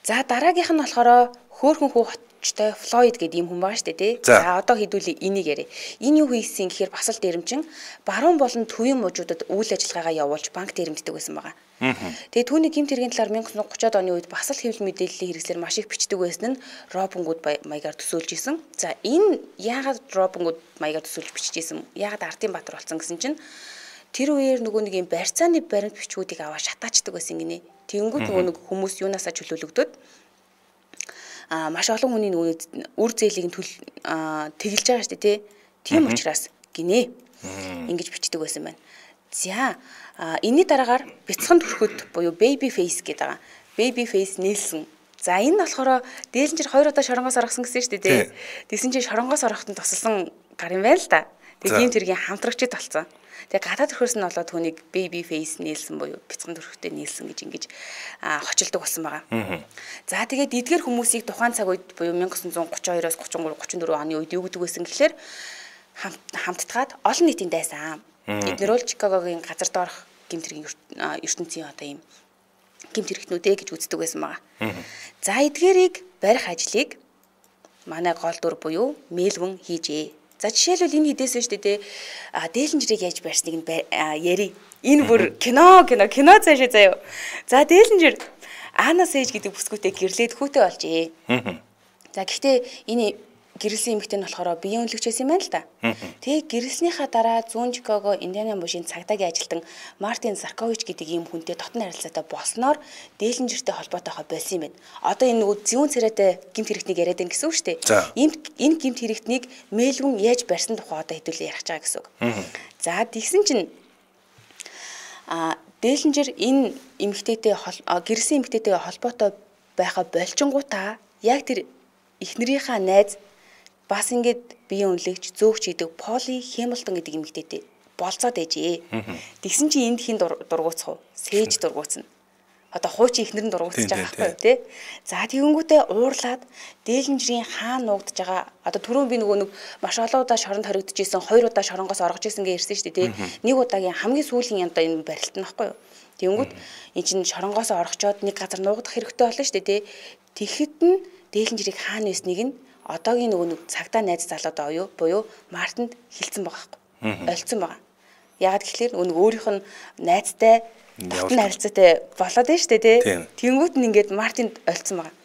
За дараагийнх нь болохоор хөөхөн хүүхдтэй Флойд гэдэг юм хүн байгаа шүү дээ тий. За одоо хэдүүлээ энийг яриа. Энэ юу хийсэн гэхээр бас л дээрэмчин баруун болон төвийн мужуудад үйл ажиллагаагаа явуулж банк дээрэмддэг байсан байгаа. Тэгээ түүний гэмт хэргийн талаар 1930-ад оны үед бас л хэвлэл мэдээллийн хэрэгслэр маш их бичдэг байсан нь Робин Гуд маягаар төсөөлж исэн. За энэ яагаад Робин Гуд маягаар төсөөлж бичижсэн? Яагаад Ардын Баатар болсон гэсэн чинь тэр үеэр нөгөө нэг юм барьцааны баримт бичгүүдийг аваа шатаачдаг байсан гинэ. Тэнгүүд нөгөө нэг хүмүүс юунаасаа чөлөөлөгдөд маш олон хүний нөгөө үр зээлийг тэгэлж байгаа шүү дээ тий. Тийм учраас гинэ. Ингэж бичдэг байсан байна. За энэний дараагаар бяцхан төрхөд буюу baby face гэдэг байгаа. Baby face нээлсэн. За энэ нь болохоор Дээлинжер 2 удаа шоронгоос оргосон гэсэн шүү дээ тий. Тэгсэн чинь шоронгоос орохтон тусалсан гар юм байна л да. Тэгээ гэмт хэргийн хамтрагчд болсон. Тэгээ гадаад төрхөөс нь болоод түүнийг baby face нээлсэн буюу бяцхан төрхөдөө нээлсэн гэж ингэж хочилдог болсон байгаа. За тэгээд эдгээр хүмүүсийг тухайн цаг үед буюу 1932-оос 33 34 оны үед юу гэдэг байсан гэхэлэр хамтдгаад олон нийтийн дайсан. Эдгээр бол Чикагогийн газар доорх гэмт хэргийн ертөнцийн одоо ийм гэмт хэрэгтнүүдээ гэж үздэг байсан байгаа. За эдгээрийг барих ажлыг манай гол дүр буюу Мельвин хийжээ. За жишээлбэл энэ хідээсэн шүү дээ. Дээлинжерийг яаж барьсныг нь яри. Энэ бүр кино цаашаа заяа. За Дээлинжер Анна Сэж гэдэг бүсгүүтэй гэрлээд хүүтэй болжээ. За гэхдээ энэ гэрэлсэн эмэгтэй нь болохоор биеийн үнэлэгч байсан юм байна л да. Тэгээ гэрэлснийхаа дараа зүүн Чикаго Индиана мужийн цагдаагийн ажилтан Мартин Заркович гэдэг ийм хүнтэй дотн харилцаатай болсноор Дээлинжертэй холбоотойгоо болсон юм байна. Одоо энэ нөгөө зүүн царайтай гэмт хэрэгтнийг яриад байна гэсэн үг шүү дээ. Энэ гэмт хэрэгтнийг Мельвин яаж барьсан тухай одоо хэдүүлээ ярих байгаа гэсэн үг. За тэгсэн чинь Дээлинжер энэ эмэгтэйтэй гэрэлсэн эмэгтэйтэй холбоотой байхаа болчингуудаа яг тэр эхнэрийнхаа найз бас ингээд биеийн үнэлэгч зөөгч гэдэг Поли Хэмилтон гэдэг эмэгтэйтэй болцоод ээжээ. Тэгсэн чинь энд хин дургуутсах уу? Сээж дургуутсна. Одоо хуучин эхнэр нь дургуутсаж байгаа байхгүй тий. За тэгэнгүүтээ уурлаад Дээлинжерийн хаан нуугдж байгаа. Одоо түрүүн би нөгөө нэг маш олон удаа шоронд хоригдчихсэн, 2 удаа шоронгоос оргож исэн гэж ирсэн шүү дээ тий. Нэг удаагийн хамгийн сүүлийн одоо энэ барилт нь байхгүй юу? Тэгэнгүүт эн чинь шоронгоос оргочоод нэг газар нуугдах хэрэгтэй болно шүү дээ тий. Тэгэхэд нь Дээлинжерийг хаана байсныг нь одоогийн нөгөө цагдаа найз залуу буюу Мартинд хэлсэн байгаа байхгүй. Олцсон байгаа. Яагаад гэхэлэр нөгөө өөрийнх нь найзтай дотн харилцаатай болоод байна шүү дээ тий. Тэнгүүт нь ингээд Мартинд олцсон байгаа.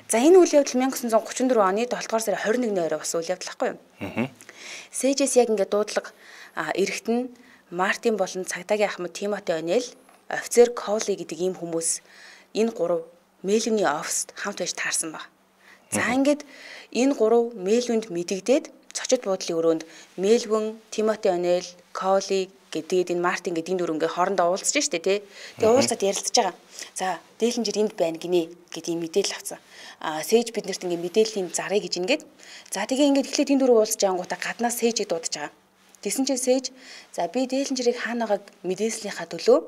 За энэ үйл явдал 1934 оны 7 дугаар сарын 21-ний орой бас үйл явдал байхгүй юу? Сэжэс яг ингээд дуудлага эрэхт нь Мартин болон цагдаагийн ахмад Тимоти Онел, офицер Коули гэдэг ийм хүмүүс энэ гурав Мельвиний оффист хамт байж таарсан баг. За ингээд энэ гурав Мельвинд мэдэгдээд цочид буудлын өрөөнд Мельвин, Тимоти Онел, Коули гэдэг энэ Мартин гэдэг энэ дөрөнгөө хоорондоо уулзж штэ тий. Тэгээ уулзаад ярилцж байгаа. За Дээлинжер энд байна гинэ гэдэг мэдээлэл авсан. Сэж биднэрт ингээд мэдээллийн зарыг гэж ингээд. За тэгээ ингээд эхлээд энэ дөрөв уулзж ангуудаа гаднаас Сэжийг дуудаж байгаа. Тэгсэн чинь Сэж за би Дээлинжерийг хаанагааг мэдээлснийхаа төлөө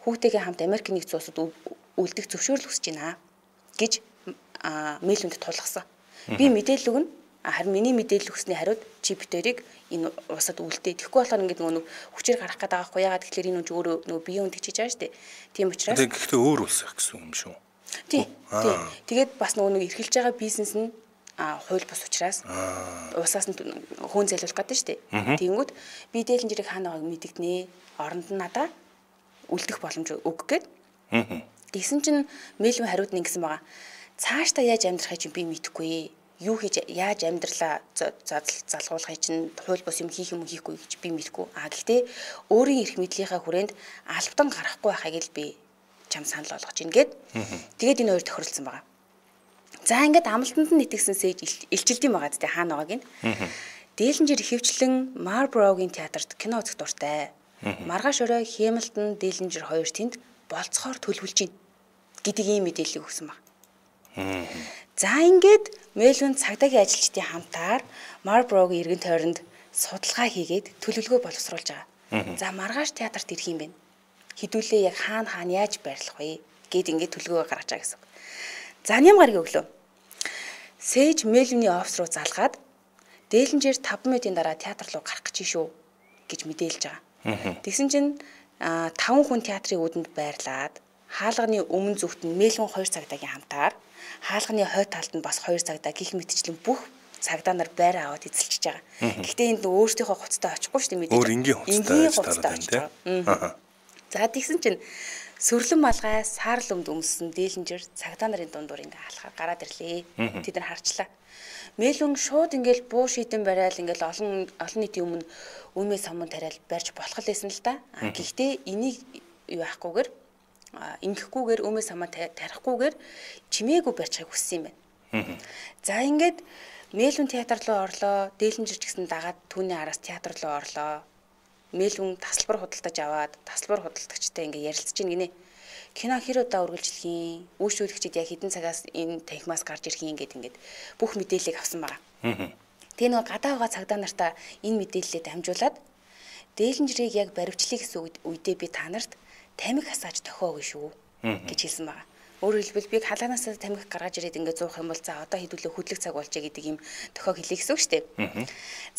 хүүхдтэйгээ хамт Америк нэгдсэн улсад үлдэх зөвшөөрөл хүсэж байна гэж мэйлүнд тулгасан. Би мэдээлэл өгнө. Харин миний мэдээлэл өгсөний хариуд чи битэрийг энэ усад үлдээ. Тэгэхгүй болохоор ингээд нөгөө хүчээр гарах гэдэг аахгүй яагаад тэгэхээр энэ үн өөрөө нөгөө биеийн үнд тэгчиж байгаа шүү дээ. Тийм учраас гэхдээ өөр улс байх гэсэн юм шүү. Тий. Тэгээд бас нөгөө эрхэлж байгаа бизнес нь хууль бус учраас усаас нь хөөн зайлуулах гэдэг шүү дээ. Тэгэнгүүт би дээлэн жирийг хаана байгааг мэдэгднэ. Оронд нь надаа үлдэх боломж өг гээд. Тэгсэн чинь мэйлвэн хариуд нь ингэсэн байгаа. Цаашдаа яаж амьдрахыг чинь би мэдэхгүй. Юу хийж яаж амьдралаа залгуулахыг чинь хууль бус юм хийх юм хийхгүй гэж би мэдэхгүй. Гэхдээ өөрийн эрх мэдлийнхаа хүрээнд албатан гарахгүй байхыг л би чам санал болгож ийн гээд. Тэгээд энэ хоёр тохиролцсон байгаа. За ингээд амлалтанд нь итгэсэн сэж илчилдэм байгаа гэдэг хаана байгааг нь. Дээлэнжир ихэвчлэн Марборогийн театрт кино үзэх дуртай. Маргааш орой Хэмилтон Дээлэнжир хоёр тэнд болцохоор төлөвлөж байна гэдэг ийм мэдээлэл өгсөн баг. За ингээд Мэлвин цагдаагийн ажилчдын хамтаар Марборогийн эргэн тойронд судалгаа хийгээд төлөвлөгөө боловсруулж байгаа. За маргааш театрт ирэх юм байна. Хідүүлээ яг хаана яаж байрлах вэ гэд ингээд төлөвлөгөө гаргаж байгаа гэсэн. За ням гарыг өглөө. Сэж Мэлвиний офис руу залгаад Дээлэнжир 5 минутын дараа театр руу гарах гэж шүү гэж мэдээлж байгаа. Тэгсэн чинь 5 хүн театрын үүдэнд байрлаад хаалганы өмнө зүгт нь Мэлвин 2 цагдаагийн хамтаар хаалганы хой талд нь бас 2 цагдаа гих мэтчлэн бүх цагдаа нар байр аваад эзэлчихэж байгаа. Гэхдээ энд өөрсдийнхөө хуцтай очихгүй шүү дээ мэдээж. Өөр энгийн хуцтай очиж байгаа. За тэгсэн чинь сүрлэн малгай саарл өмд өмссөн Дээлэнжир цагдаа нарын дундуур ингээ алхаар гараад ирлээ. Тэд нар харчлаа. Мэлвин шууд ингээл буу шийдэн барайл ингээл олон нийтийн өмнө өмнөө самун тариал барьж болох лээсэн л да. Гэхдээ энийг юу яахгүйгээр ингэхгүйгээр өмнөө самаа тарихгүйгээр чимээгүй барьчихыг хүссэн юм байна. За ингээд Мэлвин театр руу орлоо. Дээлэнжир ч гэсэн дагаад түүний араас театр руу орлоо. Мэлвин тасалбар худалдаж аваад тасалбар худалдагчтай ингээ ярилцж ийн гинэ. Кино хэр удаа үргэлжлэх юм? Үйлчлүүлэгчид яг хэдэн цагаас энэ танхимаас гарч ирэх юм ингээд бүх мэдээллийг авсан байгаа. Тэгээ нөгөө гадаа байгаа цагдаа нартаа энэ мэдээллээ дамжуулаад Дээлэнжирийг яг баривчлах гэсэн үедээ би та нарт тамхи хасааж тохиогүй шүү гэж хэлсэн байгаа. Өөрөөр хэлбэл би халаанаас тамхи гаргаж ирээд ингээд зуух юм бол за одоо хэдүүлээ хөдлөх цаг болж гэдэг юм тохиог хэлээ гэсэн үг шүү дээ.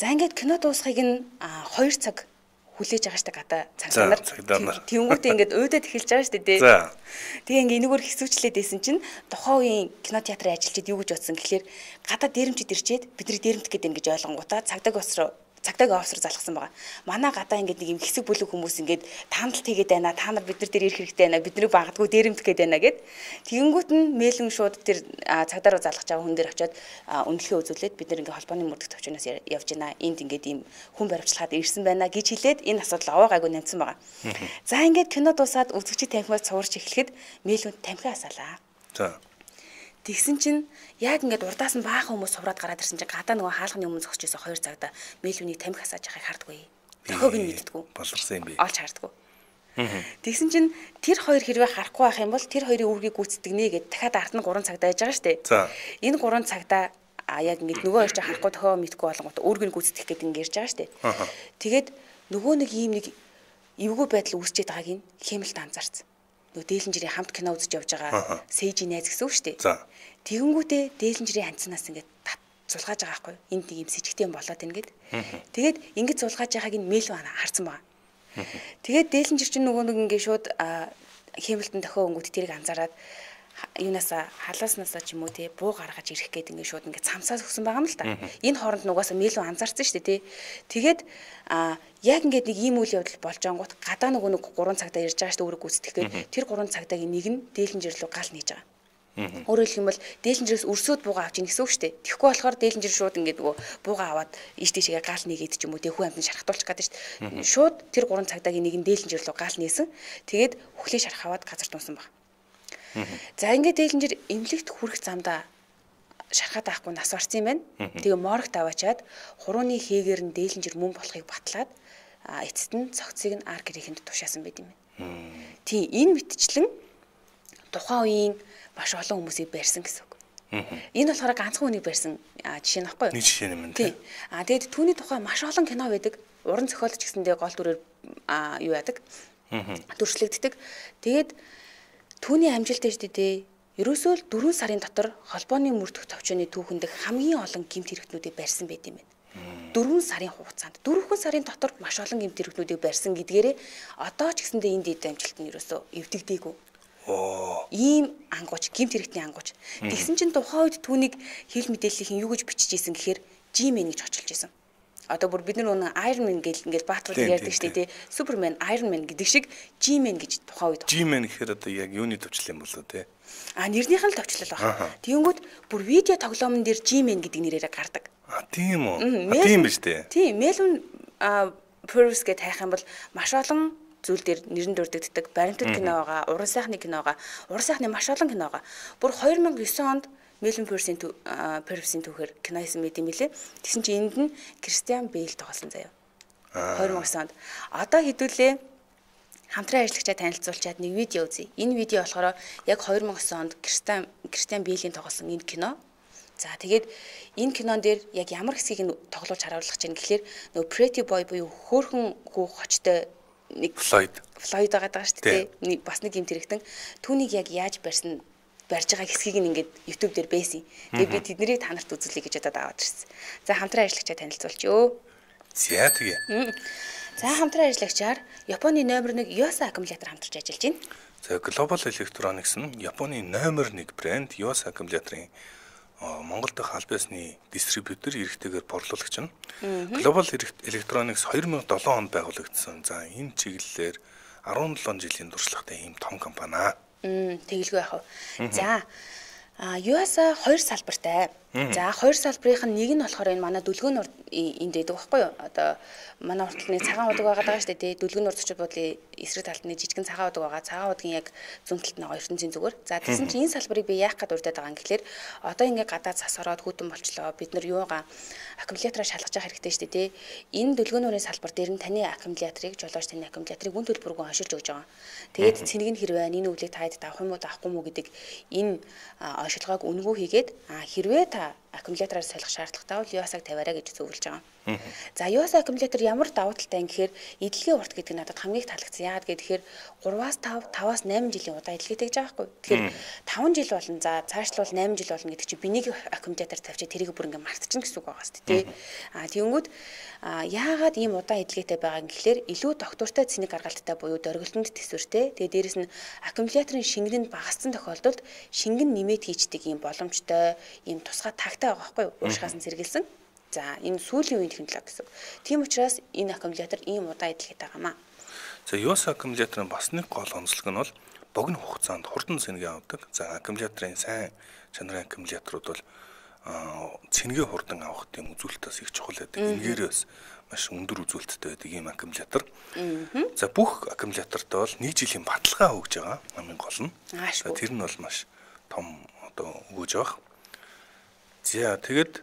За ингээд кино дуусхийг нь 2 цаг хүлээж байгаа штэ гадаа цагдаа нар. Тэнгүүтээ ингээд уйдаад эхэлж байгаа штэ тий. Тэгээ ингээд энэгээр хэсүүчлээд байсан чинь тухайн үеийн кинотеатрын ажилчид юу гэж бодсон гэхэлэр гадаа дээрэмчид ирчээд бидний дээрэмт гэдэг ингэж ойлгонгуудаа цагдаагийн офсор залгасан байгаа. Манай гадаа ингээд нэг юм хэсэг бүлэг хүмүүс ингээд таамаглалт хийгээд байна. Та нар бид нар дээр ирэх хэрэгтэй байна. Бидний багдгүй дээрэмдэх гээд байна гэд. Тэгэнгүүт нь Мэлвин шууд тэр цагдаа руу залгаж байгаа хүн дээр очиод үнэлгээ үзүүлээд бид нар ингээд холбооны мөрдөх төвчнөөс явж байна. Энд ингээд ийм хүн баримтчилгаад ирсэн байна гэж хэлээд энэ асуудал овоогайгүй нэмсэн байгаа. За ингээд кино дуусаад үзэгчид тамхиас цуурч эхлэхэд Мэлвин тамхи асаалаа. За тэгсэн чинь яг ингээд урдаас нь баахан хүмүүс сувраад гараад ирсэн чинь гадаа нөгөө хаалганы өмнө зогсож байсан 2 цагдаа Мэлвиний тамхи асааж байгааг хардггүй. Тохиог нь мэддэггүй. Боловсон юм би. Олж хардггүй. Тэгсэн чинь тэр хоёр хэрвээ харахгүй байх юм бол тэр хоёрын үүргийг гүйцэтгэнэ гэд дахиад ард нь 3 цагдаа яж байгаа шүү дээ. За. Энэ 3 цагдаа яг ингээд нөгөө хоёр ч харахгүй тохиог мэдгүй болгонгот үүргийг гүйцэтгэх гэдэг ингээд ярьж байгаа шүү дээ. Тэгээд нөгөө нэг ийм нэг эвгүй байдал үүсчээд байгааг нь Хэмилт анзаарсан. Нөгөө Дээлэнжирийн хамт кино үзэж явж байгаа Сэжийн найз гэсэн үг шүү дээ. За. Тэгэнгүүтээ Дээлэнжирийн ханцнаас ингээд зулгааж байгаа байхгүй. Энд нэг юм сэжигтэй юм болоод байна гэд. Тэгээд ингэж зулгааж байгааг нь Мэлвин харсан байгаа. Тэгээд Дээлэнжир чинь нөгөө нэг ингээд шууд Хэмилтон дохио өнгөт тэрийг анзаараад юунасаа халааснасаа ч юм уу те буу гаргаж ирэх гээд ингээд шууд ингээд цамцаас өгсөн байгаа юм л та. Энэ хооронд нугасаа Мэлвин анзаарсан шүү дээ те. Тэгээд яг ингээд нэг ийм үйл явдал болж ангууд гадаа нөгөө нэг 3 цагдаа ирж байгаа шүү дээ өөрөг гүйцэтгэх гээд тэр 3 цагдаагийн нэг нь Дээлэнжир рүү гал нээж байгаа. Өөрөөр хэлэх юм бол Дээлэнжирэс өрсөд буугаа авч ийн гэсэн үг шүү дээ. Тэгэхгүй болохоор Дээлэнжир шууд ингээд нөгөө буугаа аваад ийш тийшээ гал нэгээд ч юм уу те хүн амьтан шархтуулчих гэдэг шүү дээ. Шууд тэр 3 цагдаагийн нэг нь Дээлэнжир рүү гал нээсэн. Тэгээд хүлээ шарх аваад газар тунсан баг. За ингээд Дээлэнжир эмнэлэгт хүрэх замдаа шархаад байхгүй нас барсан юм байна. Тэгээ моргт аваачаад хурууны хийгээр нь Дээлэнжир мөн болохыг батлаад эцэст нь цогцыг нь ар гэрээхэнд тушаасан байт юм байна. Тийм энэ мэтчлэн тухайн үеийн маш олон хүмүүсийг барьсан гэсэн үг. Энэ болохоор ганцхан хүнийг барьсан жишээ нөхгүй юу? Нэг жишээ юм тийм. Тэгээд түүний тухай маш олон кино байдаг. Уран зохиолч гэсэндээ гол дүрээр юу яадаг? Дүрслэгддэг. Тэгээд түүний амжилттай шүү дээ. ерөөсөө л 4 сарын дотор холбооны мөрдөх төвчөөний түүхэнд хамгийн олон гэмт хэрэгтнүүдийг барьсан байт юм байна. 4 сарын хугацаанд 4 сарын дотор маш олон гэмт хэрэгтнүүдийг барьсан гэдгээрээ одоо ч гэсэндээ энэ дэд амжилт нь ерөөсөө эвдэгдээгүй. Ийм ангууч, гэмт хэрэгтний ангууч. Тэгсэн чинь тухайн үед түүнийг хэвлэл мэдээллийнхэн юу гэж бичиж ийсэн гэхээр G-Man гэж очилж ийсэн. Одоо бүр бид нар нөгөө Iron Man гэл ингээд баатрууд ярьдаг шүү дээ. Superman, Iron Man гэдэг шиг G-Man гэж тухайн үед. G-Man гэхээр одоо яг юуны төвчлэл юм болоо те? Нэрнийх нь л төвчлөл байна. Тэгэнгүүт бүр видео тоглоомн дээр G-Man гэдэг нэрээр гардаг. Тийм үү? Тийм биз дээ. Тийм, Melvin Purvis гэж хайх юм бол маш олон зүйл дээр нэрэн дурддагддаг. Баримтат кино байгаа, уран сайхны кино байгаа. Уран сайхны маш олон кино байгаа. Бүр 2009 онд Melvin Purvis-ийн түүхээр кино хийсэн мэт юм билээ. Тэгсэн чинь энд нь Christian Bale тоглосон заяа. 2009 онд. Одоо хэдүүлээ хамтран ажиллагчаа танилцуулчаад нэг видео үзье. Энэ видео болохоор яг 2009 онд Christian Bale-ийн тоглосон энэ кино. За тэгээд энэ кинон дээр яг ямар хэсгийг нь тоглуулж харуулж чинь гэхэлэр нөгөө Pretty Boy буюу хөөхөн хүү хочтой нэг Floyd байгаа шүү дээ. Бас нэг юм тэрэгтэн түүнийг яг яаж барьж байгаа хэсгийг нь ингээд YouTube дээр байсан. Тэгээд би тэднийг та нарт үзүүлье гэж удаад аваад ирсэн. За хамтран ажиллагчаа танилцуулчихё. За тэгээ. За хамтран ажиллагчаар Японы номер 1 Yuasa аккумулятор хамтарч ажиллаж байна. За Global Electronics нь Японы номер 1 брэнд Yuasa аккумуляторын Монгол дахь аль биесны дистрибьютор эрхтэйгээр борлуулагч нь. Global Electronics 2007 онд байгуулагдсан. За энэ чиглэлээр 17 жилийн туршлагатай ийм том компани. Тэгэлгүй яах вэ? За Yuasa 2 салбартай. За 2 салбарынх нь нэг нь болохоор энэ манай дүлгөөн энд байдаг байхгүй юу? Одоо манай урталны цагаан удаг байгаа даа шүү дээ. Дүлгөөн урд зочид буудлын эсрэг талд нь жижигэн цагаан удаг байгаа. Цагаан удгийн яг зүүн талд нь ертөнцийн зүгээр. За тэгсэн чинь энэ салбарыг би яах гээд урдаад байгаа юм гэхэлэр одоо ингээ гадаад цас ороод хүйтэн болчлоо. Бид нар юугаа аккумулятораа шалгаж явах хэрэгтэй шүү дээ. Энэ дүлгөөнүүрийн салбар дээр нь таны аккумуляторыг жолооч таны аккумуляторыг үн төлбөргүй оншилж өгж байгаа. Тэгээд цэнийг нь хэрвээ энэ үглийг таад авах юм уу авахгүй юу гэдэг энэ оншилгоог үнэгүй хийгээд хэрвээ та аккумулятораар солих шаардлагатай бол Yuasa-г тавиараа гэж зөвлөж байгаа. За Yuasa аккумулятор ямар давуу талтай юм гэхээр эдлэгийн урт гэдэг нь надад хамгийн их таалагдсан. Яагаад гэхээр 3-аас 5, 5-аас 8 жилийн удаа эдлэгээтэй гэж байгаа байхгүй. Тэгэхээр 5 жил болно. За цаашлбал 8 жил болно гэдэг чинь би нэг аккумулятор тавьчих тэрийг бүр ингээ мартчихна гэсэн үг байгаа шүү дээ. Тэгэнгүүт яагаад ийм удаан эдлэгээтэй байгаа юм гэхээр илүү доктортой цэник гаргалттай буюу дөргөлтөнд төсвөртэй. Тэгээ дээрэс нь аккумуляторын шингэн нь багассан тохиолдолд шингэн нэмээд хийждэг ийм боломжтой, ийм тусгай тагтай байгаа байхгүй юу? Уушгаас нь сэргийлсэн. За энэ сүүлийн үеийн технологи гэсэн. Тийм учраас энэ аккумулятор ийм удаан эдлэгээтэй байгаамаа. За Yuasa аккумуляторын бас нэг гол онцлог нь бол богино хугацаанд хурдан цэнгээ авдаг. За аккумуляторын сайн чанарын аккумуляторууд бол цэнгээ хурдан авах тийм үзүүлэлтээс их чухал байдаг. Энээрээс маш өндөр үзүүлэлттэй байдаг ийм аккумулятор. За бүх аккумулятортой бол 1 жилийн баталгаа өгж байгаа. Хамгийн гол нь. Тэр нь бол маш том одоо өгж байгаа. За тэгэд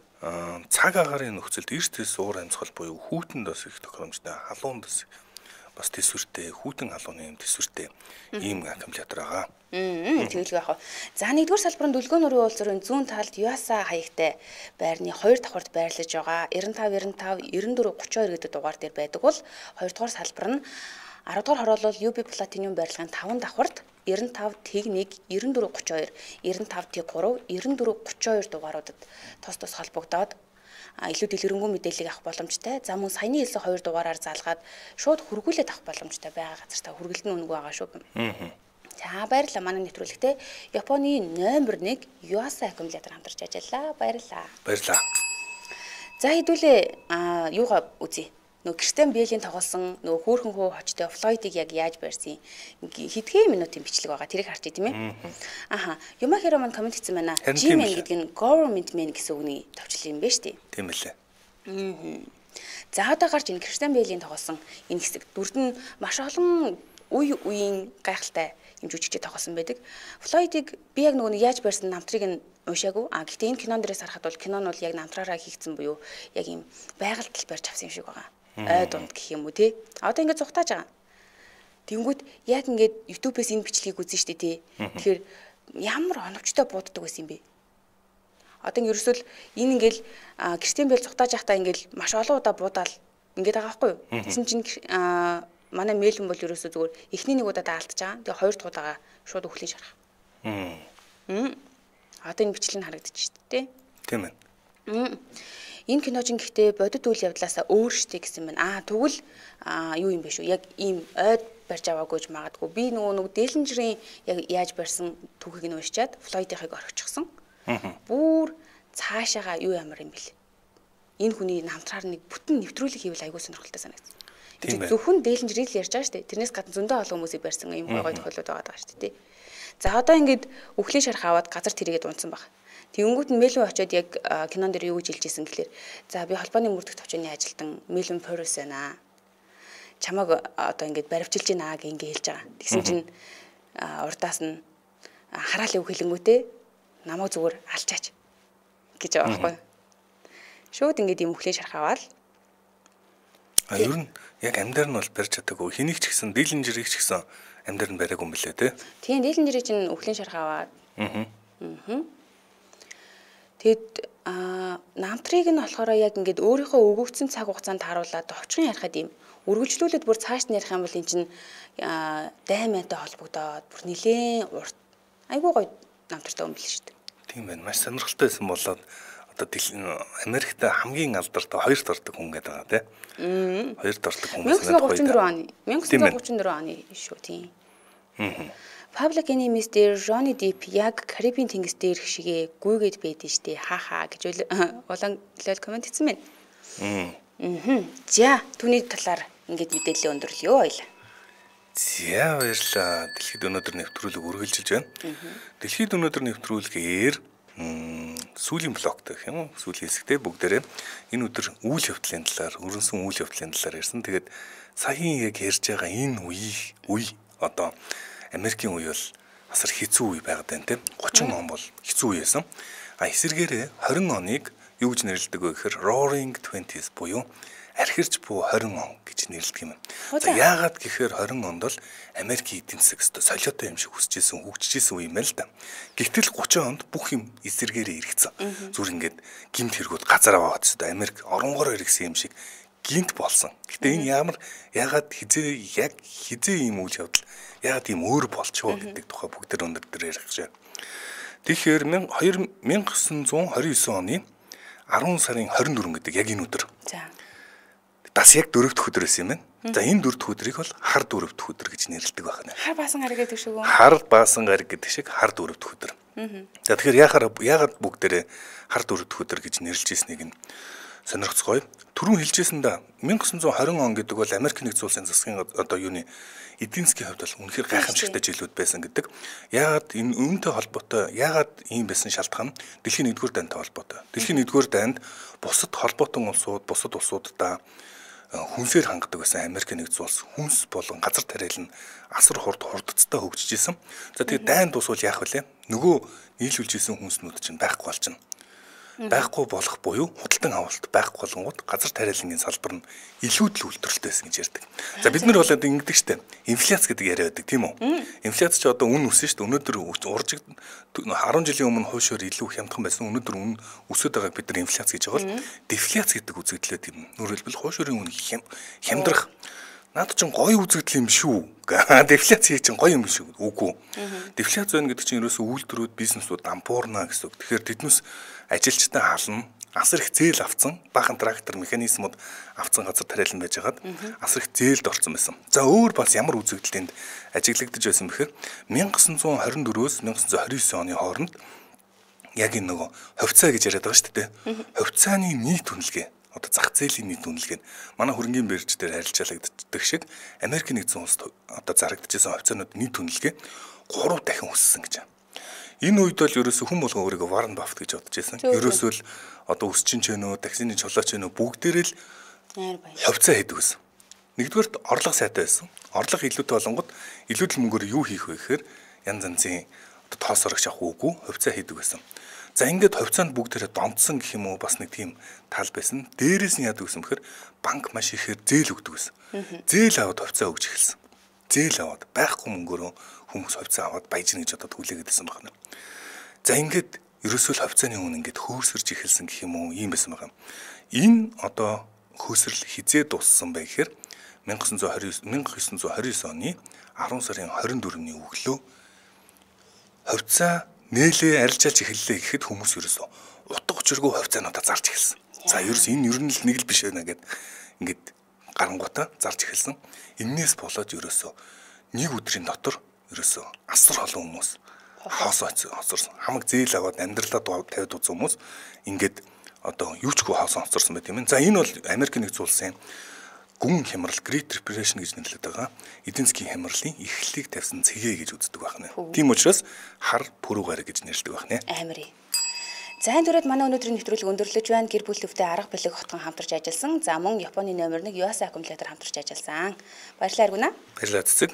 цаг агарын нөхцөлд эрсдэс уур амьсгал буюу хүүтэнд бас их тохиромжтой, халуунд бас төсвөртэй, хүүтэн халууны юм төсвөртэй ийм аккумулятор байгаа. Тэгэлгүй яах вэ? За нэгдүгээр салбарын дүлгөөнөрийн уулзрын зүүн талд Yuasa хаягтай байрны 2 давхурд байрлаж байгаа 95 94 32 гэдэг дугаар дээр байдаг бол 2 дугаар салбар нь 10 дугаар хороолол UB Platinum барилгын 5 давхурд 95 Т1 94 32 95 Т3 94 32 дугааруудад тус холбогдоод илүү дэлгэрэнгүй мэдээллийг авах боломжтой. За мөн саяны хэлсэн 2 дугаараар залгаад шууд хөргүүлээд авах боломжтой байгаа газар та хөргөлт нь үнэгүй байгаа шүү. За баярлалаа манай нэвтрүүлэгтээ Японы номер 1 Yuasa аккумулятор хамтарч ажиллаа. Баярлалаа. Баярлалаа. За хэдүүлээ юугаа үзье. Нөгөө Christian Bale-ийн тоглосон нөгөө хөөхөн хөө хочтой Floyd-ыг яг яаж барьсан хэдхэн минутын бичлэг байгаа тэрийг харчих тийм ээ. Юмахиро маань комент хийсэн байна. G-Man гэдэг нь government man гэсэн үгний товчлол юм байна шүү дээ. Тийм үлээ. За одоо гарч ин Christian Bale-ийн тоглосон энэ хэсэг дүрд нь маш олон үеийн гайхалтай юм жүжигчтэй тоглосон байдаг. Floyd-ыг би яг нөгөө яаж барьсан намтрыг нь уушаагүй. Гэхдээ энэ кинон дээрээс харахад бол кинон бол яг намтраараа хийгдсэн буюу яг юм байгальд барьж авсан юм шиг байгаа. Ой дунд гэх юм уу те. Одоо ингээд зүхтааж байгаа. Тэнгүүд яг ингээд YouTube-ээс энэ бичлэгийг үзэн штэ те. Тэгэхээр ямар оновчтой бууддаг байсан юм бэ? Одоо ингээд ерөөсөл энэ ингээд Christian Bale зүхтааж байхдаа ингээд маш олон удаа буудаал ингээд байгаа байхгүй юу? Тэгсэн чинь манай Melvin бол ерөөсөө зүгээр эхний нэг удаа даалтж байгаа. Тэгээ хоёр дахь удаага шууд өхлөж харах. Одоо энэ бичлэг нь харагдчих шүү дээ. Тийм ээ. Энэ киноч гэхдээ бодит үйл явдлаасаа өөр штэ гэсэн байна. Тэгвэл юу юм бэ шүү? Яг ийм ойд барьж аваагүйж магадгүй. Би нөгөө дээлэнжрийн яг яаж барьсан түүхийг нь уншичаад Флойдийнхыг орхичихсан. Бүр цаашаага юу ямар юм бэл. Энэ хүний намтраар нэг бүтэн нэвтрүүлэг хийвэл айгүй сонирхолтой санагдсан. Тэгээд зөвхөн дээлэнжрийг л ярьж байгаа штэ. Тэрнээс гадна зөндөө олон хүмүүсийг барьсан ийм гой тохиолдод байгаа штэ тий. За одоо ингээд үхлийн шарх аваад газар тэрийгэд унтсан баг. Тэнгүүт нь Мэлвин очиод яг кинон дээр юу гэж хэлжсэн гэхэлэр за би холбооны мөрдөх төвчний ажилтан Мэлвин Форрес байна. Чамаг одоо ингээд баривчилж байна гэх ингэ хэлж байгаа. Тэгсэн чинь урдаас нь хараал өв хэлэнгүүтээ намайг зүгээр алчаач гэж байгаа байхгүй. Шууд ингээд юм үхлийн шарх аваад ер нь яг амьдар нь бол барьж чадаагүй. Хэнийг ч гэсэн дээлэнжирийг ч гэсэн амьдар нь бариагүй юм билээ те. Тийм дээлэнжирийг чинь үхлийн шарх аваад. Тэгэд намтрыг нь болохоор яг ингээд өөрийнхөө өгөгдсөн цаг хугацаанд харуулад товчхон ярихад юм үргэлжлүүлээд бүр цааш нь ярих юм бол эн чинь даймантай холбогдоод бүр нилээн урт айгүй гоё намтартай юм биш шүү дээ. Тийм байна. Маш сонирхолтой байсан болоод одоо Америкт хамгийн алдартай хоёрт ордог хүн гэдэг байгаа тийм. Хоёрт ордог хүмүүс нь 1934 оны шүү тийм. Public Enemies дээр Johnny Depp яг Карибын тэнгис дээр хшигээ гүйгээд байдэн штэ хаахаа гэж улаан лол комент хийсэн байна. За түүний талаар ингээд мэдээлэл өндөрлөё ойлаа. За баярлалаа. Дэлхийд өнөөдөр нэвтрүүлэг үргэлжилж байна. Дэлхийд өнөөдөр нэвтрүүлгээр сүүлийн блок гэх юм уу? Сүүлийн хэсэгтээ бүгдээрээ энэ өдөр үйл явдлын талаар, өрнсөн үйл явдлын талаар ярьсан. Тэгээд саяхан яг ярьж байгаа энэ үе одоо Америкийн үе бол асар хэцүү үе байгаад байна тийм. 30 он бол хэцүү үе байсан. Эсвэргээрээ 20 оныг юу гэж нэрлэдэг вэ гэхээр Roaring 20s буюу архирч буй 20 он гэж нэрлэдэг юм. За яагаад гэхээр 20 онд бол Америкийн эдийн засаг өстө солиотой юм шиг хүсэжсэн, хөгжижсэн үе юм байна л да. Гэвтэл 30 онд бүх юм эсвэргээрээ эргэцэн. Зүр ингээд гимт хэрэгүүд газар аваад өстө Америк оронгоор эргэсэн юм шиг гинт болсон. Гэтэ энэ яагаад хизээ ийм үйл явдал яагаад ийм өөр болчихоо гэдэг тухай бүгд өнөөдөр ярих гэж байна. Тэгэхээр 1929 оны 10 сарын 24 гэдэг яг энэ өдөр. За. Бас яг 4 дахь өдөр байсан юм байна. За энэ 4 дахь өдрийг бол хар 4 дахь өдөр гэж нэрлэдэг байна. Хар баасан гариг гэдэг шиг үү? Хар баасан гариг гэдэг шиг хар 4 дахь өдөр. За тэгэхээр яагаад бүгдээрээ хар 4 дахь өдөр гэж нэрлэж ирснийг нь сонирхцгоё. Түрүүн хэлжсэн да 1920 он гэдэг бол Америк нэгдсэн улсын засгийн одоо юуны эдийн засгийн хувьд бол үнэхээр гайхамшигтай жилүүд байсан гэдэг. Яагаад энэ үүнтэй холбоотой яагаад ийм байсан шалтгаан Дэлхийн 1-р дайнтай холбоотой. Дэлхийн 1-р дайнд бусад холбоотон улсууд, бусад улсуудаа хүнсээр хангадаг байсан Америк нэгдсэн улс хүнс болон газар тариал нь асар хурдцтай хөгжиж исэн. За тэгээд дайнд усвал яах вэ? Нөгөө нийлүүлж исэн хүнснүүд чинь байхгүй болчихно. Байхгүй болох буюу худалдан авалт байхгүй болгонгууд газар тариалангийн салбар нь илүү л үйлдвэрлэлтэй байсан гэж ярьдаг. За бид нар болоод ингэдэг штэ. Инфляц гэдэг яриа байдаг тийм үү? Инфляц ч одоо үн өссөн штэ. Өнөөдөр 10 жилийн өмнө хойшоор илүү хямдхан байсан. Өнөөдөр үн өсөд байгааг бид нар инфляц гэж байгаа бол дефляц гэдэг үзэгдлээ тийм. Өөрөлдвөл хойшоорын үн хямдрах. Наад чинь гоё үзэгдэл юм шүү. Дефляц чинь гоё юм шүү. Үгүй. Дефляц байна гэдэг чинь ерөөсөө үйлдвэрүүд, бизнесүүд дампуурна гэсэн үг. Тэгэхээр тэднээс ажилчтай хална, асар их зээл авцсан, баахан трактор механизмууд авцсан газар тариалан байжгаад асар их зээлд орсон байсан. За өөр бас ямар үзэгдэлтэнд ажиглагдаж байсан бэхээр 1924-өөс 1929 оны хооронд яг энэ нөгөө ховцаа гэж яриад байгаа шүү дээ. Ховцааны нийт үнэлгээ одоо зах зээлийн нийт үнэлгээ нь манай хөрөнгөний бирж дээр харилцаалагддаг шиг Америк нэгдсэн улсад одоо зарагдчихсан ховцаанууд нийт үнэлгээ 3 дахин өссөн гэж байна. Энэ үед бол ерөөсө хүн болгоо өөрийгөө Warren Buffett гэж бодож байсан. Ерөөсөө л одоо өсчин ч нөө, таксины чулаач нөө бүгдээрээ л ховцаа хийдэг байсан. Нэгдүгээрт орлого сайтай байсан. Орлого илүүтэй болонгод илүүдэл мөнгөөр юу хийх вэ гэхээр янз янзын одоо тоос орогч авах үгүй ховцаа хийдэг байсан. За ингээд ховцаанд бүгдээрээ донтсон гэх юм уу бас нэг тийм тал байсан. Дээрээс нь яадаг гэсэн бэхээр банк маш ихээр зээл өгдөг байсан. Зээл аваад ховцаа өгч эхэлсэн. Зээл аваад байхгүй мөнгөөрөө хүмүүс ховцаа аваад баяжна гэж одоо хүлээгээд байсан байна. За ингээд ерөөсөө л ховцааны үн ингээд хөөсөрж эхэлсэн гэх юм уу ийм байсан байна. Энэ одоо хөөсрөл хизээ дууссан бай гэхээр 1929 оны 10 сарын 24-ний өглөө ховцаа нээлээ арилжаалж эхэллээ гэхэд хүмүүс ерөөсөө утга учиргүй хувьцаануудаа зарж эхэлсэн. За ерөөс энэ ер нь л нэг л биш байна гэд ингээд гарангуудаа зарж эхэлсэн. Эннээс болоод ерөөсөө нэг өдрийн дотор ерөөсөө асар олон хүмүүс хоосорсон. Хамаг зээл аваад амьдралаа тавьд үзсэн хүмүүс ингээд одоо юучгүй хоосон хоцорсон байт юм. За энэ бол Америк нэгдсэн улсын гүн хямрал Great Depression гэж нэрлэдэг байгаа. Эдийн засгийн хямралын эхлэлийг тавьсан цэгээ гэж үздэг байна. Тийм учраас хар пүрэв гараг гэж нэрлэдэг байна. Амир. За энэ түрээд манай өнөөдрийн нэвтрүүлэг өндөрлөж байна. Гэр бүлөвтэй арга билег хотгон хамтарч ажилласан. За мөн Японы номер 1 Yuasa аккумулятор хамтарч ажилласан. Баярлалаа Аргуна. Баярлалаа цэцэг.